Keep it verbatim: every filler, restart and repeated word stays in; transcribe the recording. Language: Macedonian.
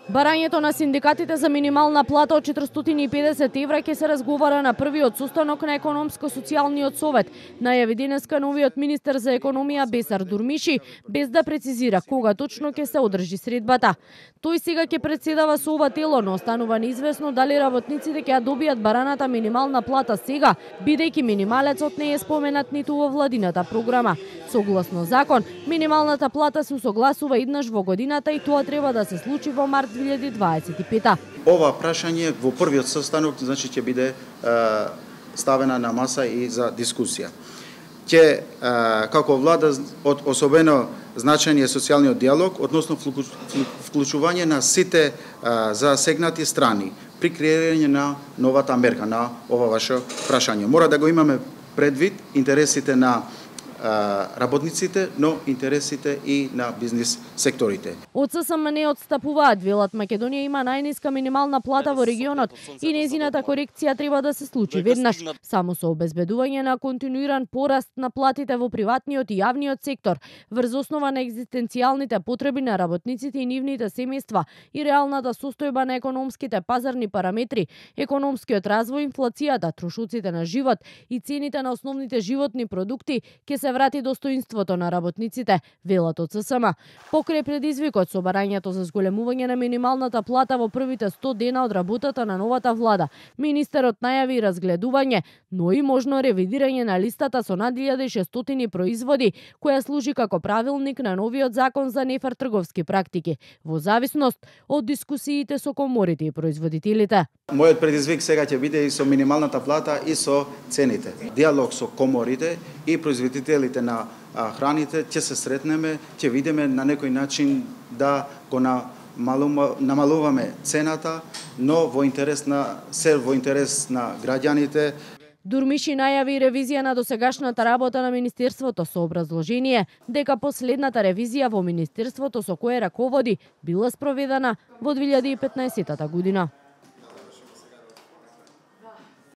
Барањето на синдикатите за минимална плата од четиристотини и педесет евра ќе се разговара на првиот состанок на економско-социјалниот совет, најави денеска новиот министер за економија Бесар Дурмиши, без да прецизира кога точно ќе се одржи средбата. Тој сега ќе председава со ова тело, но останува неизвестно дали работниците ќе ја добијат бараната минимална плата сега, бидејќи минималецот не е споменат ниту во владината програма. Согласно закон, минималната плата се усогласува еднаш во годината и тоа треба да се случи во март две илјади дваесет и пета. Ова прашање во првиот состанок значи ќе биде е, ставена на маса и за дискусија. Ќе е, како влада од особено значење социјалниот диалог односно вклучување на сите е, засегнати страни при креирање на новата мерка на ова ваше прашање. Мора да го имаме предвид интересите на работниците, но интересите и на бизнис секторите. Од ССМ не отстапуваат, велат Македонија има најниска минимална плата во регионот и незината корекција треба да се случи веднаш. Само со обезбедување на континуиран пораст на платите во приватниот и јавниот сектор, врз основа на екзистенцијалните потреби на работниците и нивните семејства и реалната состојба на економските пазарни параметри, економскиот развој, инфлацијата, трошоците на живот и цените на основните животни продукти, ќе се врати достоинството на работниците, велат од ССМ. Покрај предизвикот со барањето за зголемување на минималната плата во првите сто дена од работата на новата влада, министерот најави разгледување, но и можно ревидирање на листата со над илјада и шестстотини производи, која служи како правилник на новиот закон за нефер трговски практики, во зависност од дискусиите со коморите и производителите. Мојот предизвик сега ќе биде и со минималната плата и со цените. Диалог со коморите и производителите на храните, ќе се сретнеме, ќе видиме на некој начин да го намалуваме цената, но во интерес на се во интерес на граѓаните. Дурмиши најави ревизија на досегашната работа на Министерството со образложение дека последната ревизија во Министерството со кое раководи била спроведена во две илјади и петнаесетта година.